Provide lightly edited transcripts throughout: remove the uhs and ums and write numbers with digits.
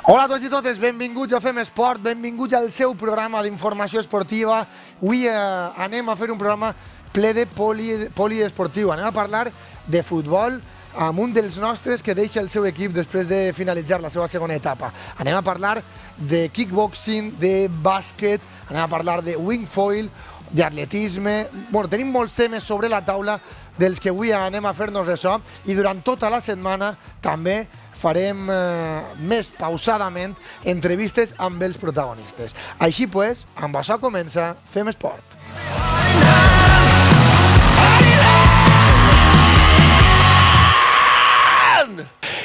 Hola a tots i totes, benvinguts a Fem Esport, benvinguts al seu programa d'informació esportiva. Avui anem a fer un programa ple de poliesportiu. Anem a parlar de futbol amb un dels nostres que deixa el seu equip després de finalitzar la seva segona etapa. Anem a parlar de kickboxing, de bàsquet, anem a parlar de wingfoil, d'atletisme. Bueno, tenim molts temes sobre la taula dels que avui anem a fer-nos ressò i durant tota la setmana també farem més pausadament entrevistes amb els protagonistes. Així pues, amb això comença Fem Esport.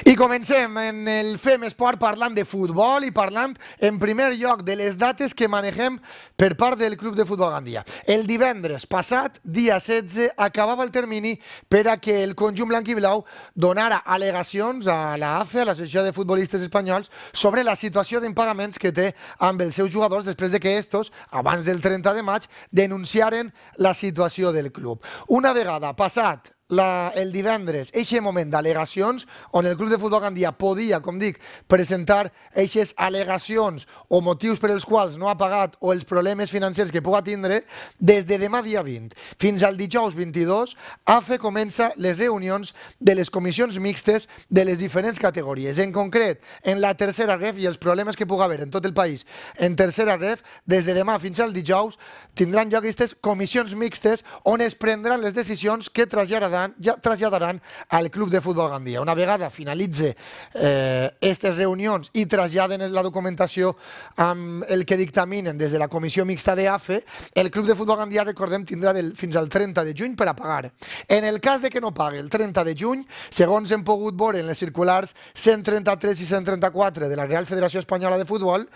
I comencem en el Fem Esport parlant de futbol i parlant en primer lloc de les dates que manegem per part del Club de Futbol Gandia. El divendres passat, dia 16, acabava el termini per a que el conjunt blanc i blau donara al·legacions a l'AFE, a l'Associació de Futbolistes Espanyols, sobre la situació d'impagaments que té amb els seus jugadors després de que estos, abans del 30 de maig, denunciaren la situació del club. Una vegada passat el divendres, eixe moment d'al·legacions, on el Club de Futbol Gandia podia, com dic, presentar eixes al·legacions o motius per els quals no ha pagat o els problemes financers que puga tindre, des de demà dia 20 fins al dijous 22, AFE comença les reunions de les comissions mixtes de les diferents categories. En concret, en la tercera ref i els problemes que puga haver en tot el país en tercera ref, des de demà fins al dijous, tindran lloc aquestes comissions mixtes on es prendran les decisions que traslladaran al Club de Futbol Gandia. Una vegada finalitze aquestes reunions i traslladen la documentació amb el que dictaminen des de la comissió mixta de AFE, el Club de Futbol Gandia, recordem, tindrà fins al 30 de juny per a pagar. En el cas de que no pague el 30 de juny, segons hem pogut veure en les circulars 133 i 134 de la Real Federació Espanyola de Futbol,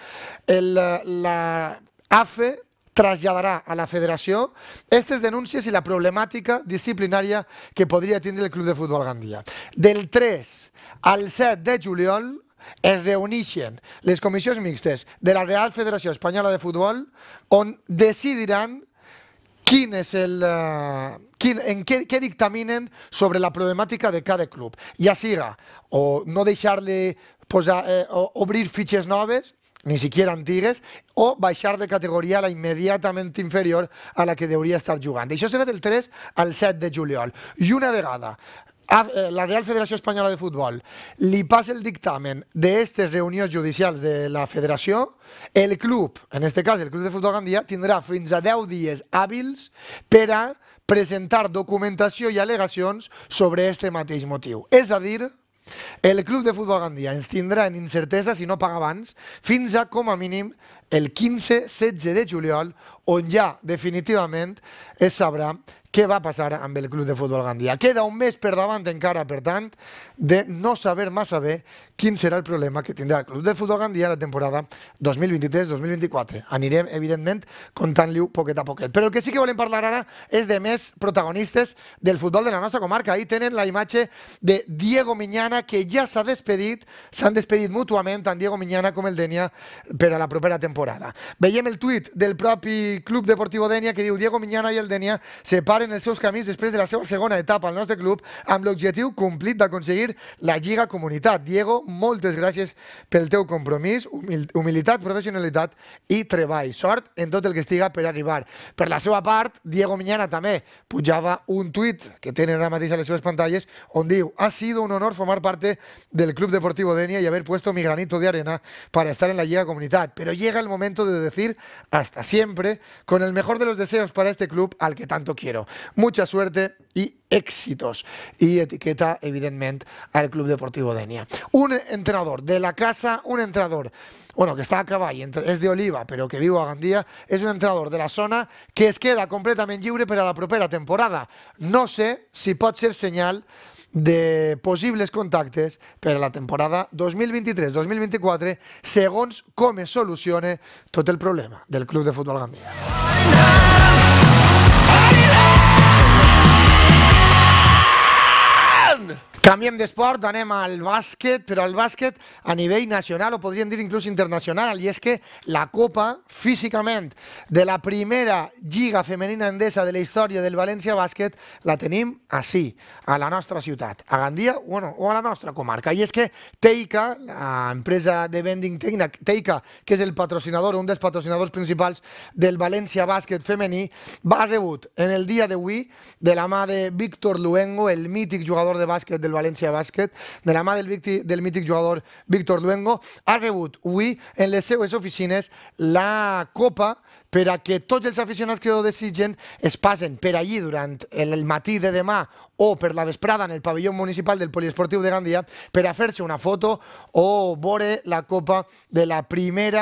la AFE traslladarà a la federació aquestes denúncies i la problemàtica disciplinària que podria tindre el Club de Futbol Gandia. Del 3 al 7 de juliol es reuneixen les comissions mixtes de la Real Federació Espanyola de Futbol on decidiran què dictaminen sobre la problemàtica de cada club. Ja siga o no deixar de obrir fitxes noves, ni siquiera antigues, o baixar de categoria a la immediatament inferior a la que hauria estar jugant. Això serà del 3 al 7 de juliol. I una vegada la Real Federació Espanyola de Futbol li passa el dictamen d'aquestes reunions judicials de la federació, el club, en aquest cas el Club de Futbol Gandia, tindrà fins a 10 dies hàbils per a presentar documentació i al·legacions sobre aquest mateix motiu. És a dir, el Club de Futbol Gandia ens tindrà en incertesa, si no paga abans, fins a, com a mínim, el 15-16 de juliol, on ja definitivament es sabrà què va passar amb el Club de Futbol Gandia. Queda un mes per davant encara, per tant, de no saber massa bé quin serà el problema que tindrà el Club de Futbol Gandia la temporada 2023-2024. Anirem, evidentment, comptant-li-ho poquet a poquet. Però el que sí que volem parlar ara és de més protagonistes del futbol de la nostra comarca. Ahí tenen la imatge de Diego Miñana, que ja s'han despedit mútuament, tant Diego Miñana com el Denia, per a la propera temporada. Veiem el tuit del propi Club Deportivo Denia que diu: Diego Miñana i el Denia separen els seus camins després de la seva segona etapa al nostre club amb l'objectiu complit d'aconseguir la Lliga Comunitat. Diego, moltes gràcies pel teu compromís, humilitat, professionalitat i treball. Sort en tot el que estiga per arribar. Per la seva part, Diego Miñana també pujava un tuit que tenen ara mateix a les seves pantalles on diu: ha sido un honor formar parte del Club Deportivo Denia y haber puesto mi granito de arena para estar en la Liga Comunitat. Pero llega el momento de decir hasta siempre, con el mejor de los deseos para este club al que tanto quiero. Mucha suerte y éxitos. Y etiqueta, evidentment, al Club Deportivo Denia. Un entrenador de la casa, un entrenador, bueno, que està a cavall, és d'Oliva, però que viu a Gandia, és un entrenador de la zona que es queda completament lliure per a la propera temporada. No sé si pot ser senyal de possibles contactes per a la temporada 2023-2024, segons com es solucione tot el problema del Club de Futbol Gandia. Canviem d'esport, anem al bàsquet, però al bàsquet a nivell nacional, o podríem dir inclús internacional, i és que la Copa, físicament, de la primera lliga femenina endesa de la història del València Bàsquet, la tenim ací, a la nostra ciutat, a Gandia o a la nostra comarca. I és que Teica, l'empresa de vending Teica, que és el patrocinador, un dels patrocinadors principals del València Bàsquet femení, va rebut en el dia d'avui, de la mà de Víctor Luengo, el mític jugador de bàsquet del València Bàsquet, de la mà del mític jugador Víctor Luengo, ha rebut avui en les seues oficines la Copa per a que tots els aficionats que ho desitgen es passen per allí durant el matí de demà o per la vesprada en el pavelló municipal del Poliesportiu de Gandia per a fer-se una foto o veure la Copa de la primera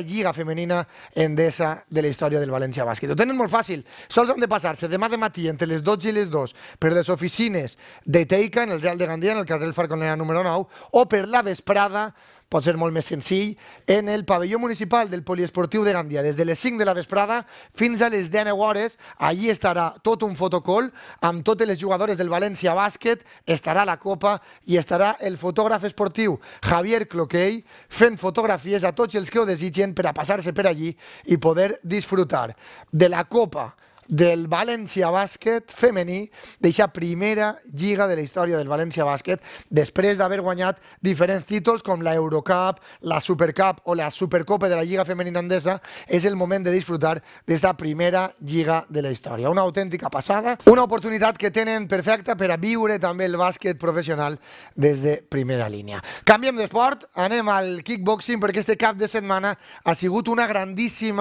lliga femenina endesa de la història del València Bàsquet. Ho tenen molt fàcil, sols han de passar-se demà de matí entre les 12 i les 2 per les oficines de Teica en el Real de Gandia, en el carrer Falconera número 9, o per la vesprada, pot ser molt més senzill, en el pavelló municipal del Poliesportiu de Gandia, des de les 5 de la vesprada fins a les 19 hores. Allí estarà tot un fotocall amb totes les jugadores del València Bàsquet, estarà la Copa i estarà el fotògraf esportiu Javier Cloquell fent fotografies a tots els que ho desitgen per a passar-se per allí i poder disfrutar de la Copa del València Bàsquet femení, d'eixa primera lliga de la història del València Bàsquet, després d'haver guanyat diferents títols com la Eurocup, la Supercup o la Supercopa de la Lliga Femenina Endesa. És el moment de disfrutar d'esta primera lliga de la història. Una autèntica passada, una oportunitat que tenen perfecta per a viure també el bàsquet professional des de primera línia. Canviem d'esport, anem al kickboxing, perquè este cap de setmana ha sigut un grandíssim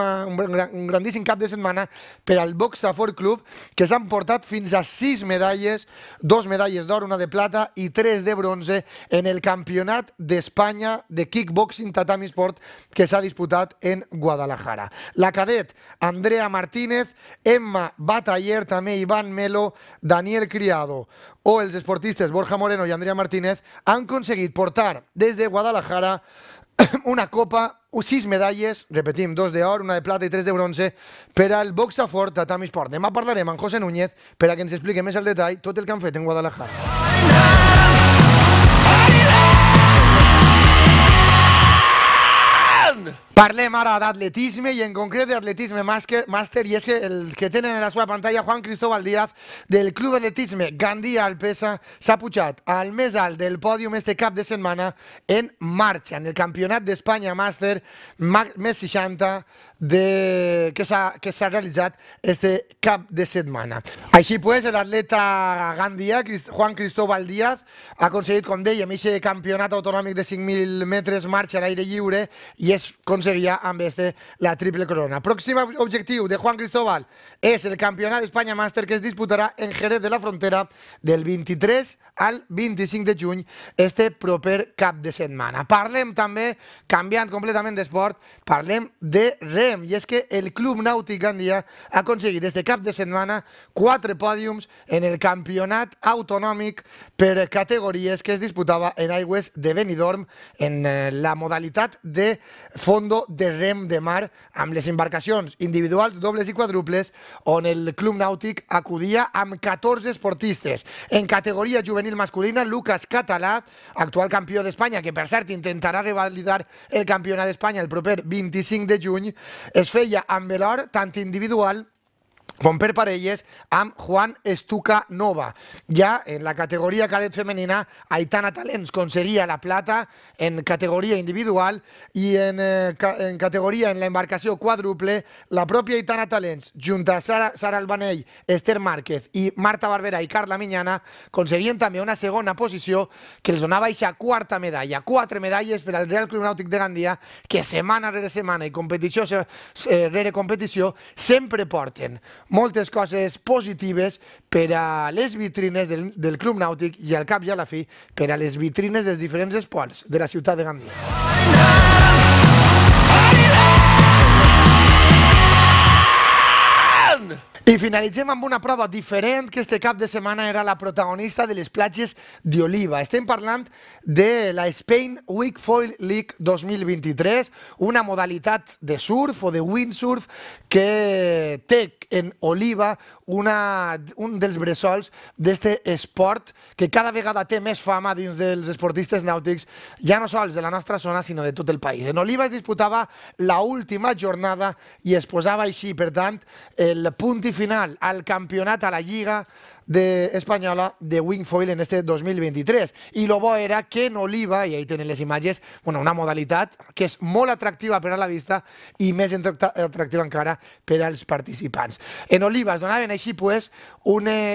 cap de setmana per al Boxa Fort Club, que s'han portat fins a 6 medalles, 2 medalles d'or, una de plata i 3 de bronze en el Campionat d'Espanya de Kickboxing Tatami Sport que s'ha disputat en Guadalajara. La cadet Andrea Martínez, Emma Bataller, també Iván Melo, Daniel Criado o els esportistes Borja Moreno i Andrea Martínez han aconseguit portar des de Guadalajara una copa, 6 medalles, repetim, 2 d'or, una de plata i 3 de bronze per al Boxa Fort Tatami Sport. Demà parlarem amb José Núñez per a que ens expliqui més al detall tot el que han fet en Guadalajara. Parlem ara d'atletisme i en concret d'atletisme màster, i és que el que tenen en la seva pantalla Juan Cristóbal Díaz del Club Atletisme Gandia Alpesa s'ha pujat al més alt del pòdium este cap de setmana en marxa en el Campionat d'Espanya Màster més 60 que s'ha realitzat este cap de setmana. Així pues, l'atleta Gandia, Juan Cristóbal Díaz, ha aconseguit, com dèiem, aquest campionat autonòmic de 5.000 metres marxa a l'aire lliure i es aconseguia amb la triple corona. Pròxim objectiu de Juan Cristóbal és el Campionat d'Espanya Màster que es disputarà en Jerez de la Frontera del 23 al 25 de juny, este proper cap de setmana. Parlem també, canviant completament d'esport, parlem de rem, i és que el Club Nàutic Gandia ha aconseguit este cap de setmana 4 pòdiums en el campionat autonòmic per categories que es disputava en aigües de Benidorm en la modalitat de fondo de rem de mar amb les embarcacions individuals, dobles i quadruples, on el Club Nàutic acudia amb 14 esportistes. En categoria juvenil masculina, Lucas Català, actual campió d'Espanya, que per cert intentarà revalidar el campionat d'Espanya el proper 25 de juny, es feia amb l'or tant individual com per parelles amb Juan Estuca Nova. Ja en la categoria cadet femenina, Aitana Talents aconseguia la plata en categoria individual i en categoria en l'embarcació quadruple, la pròpia Aitana Talents, junt a Sara Albanell, Esther Márquez i Marta Barberà i Carla Miñana, aconseguien també una segona posició que els donava aquesta quarta medalla. 4 medalles per al Real Club Nàutic de Gandia, que setmana rere setmana i competició rere competició sempre porten moltes coses positives per a les vitrines del Club Nàutic i al cap i a la fi per a les vitrines dels diferents esports de la ciutat de Gandia. I finalitzem amb una prova diferent que este cap de setmana era la protagonista de les platges d'Oliva. Estem parlant de la Spain Wakeful League 2023, una modalitat de surf o de windsurf que té en Oliva, un dels bressols d'este esport que cada vegada té més fama dins dels esportistes nàutics, ja no sols de la nostra zona, sinó de tot el país. En Oliva es disputava l'última jornada i es posava així, per tant, el punt i final al campionat, a la Lliga espanyola de wingfoil en este 2023. I lo bo era que en Oliva, i ahí tenen les imatges, una modalitat que és molt atractiva per a la vista i més atractiva encara per als participants. En Oliva es donaven així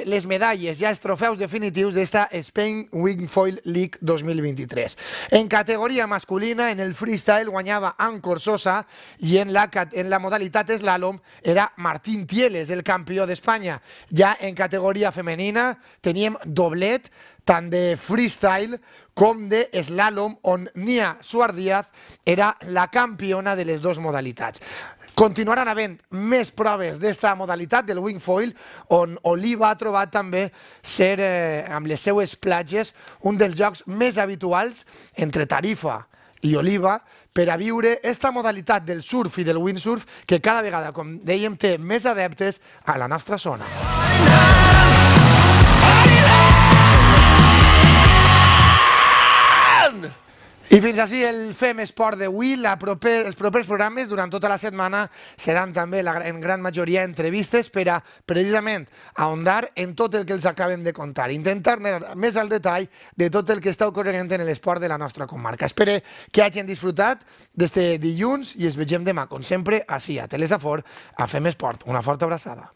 les medalles, ja els trofeus definitius d'esta Spain Wingfoil League 2023. En categoria masculina, en el freestyle guanyava Ancor Sosa i en la modalitat slalom era Martín Tieles, el campió d'Espanya. Ja en categoria femenina teníem doblet tant de freestyle com de slalom, on Nia Suardíaz era la campiona de les dues modalitats. Continuaran havent més proves d'esta modalitat del wingfoil, on Oliva ha trobat també ser, amb les seues platges, un dels jocs més habituals entre Tarifa i Oliva per a viure esta modalitat del surf i del windsurf que cada vegada, com dèiem, té més adeptes a la nostra zona. I fins així el Fem Esport d'avui. Els propers programes durant tota la setmana seran també en gran majoria entrevistes per a precisament ahondar en tot el que els acabem de contar, intentar anar més al detall de tot el que està ocorrent en l'esport de la nostra comarca. Espero que hagin disfrutat d'este dilluns i es vegem demà, com sempre, així a Telesafor, a Fem Esport. Una forta abraçada.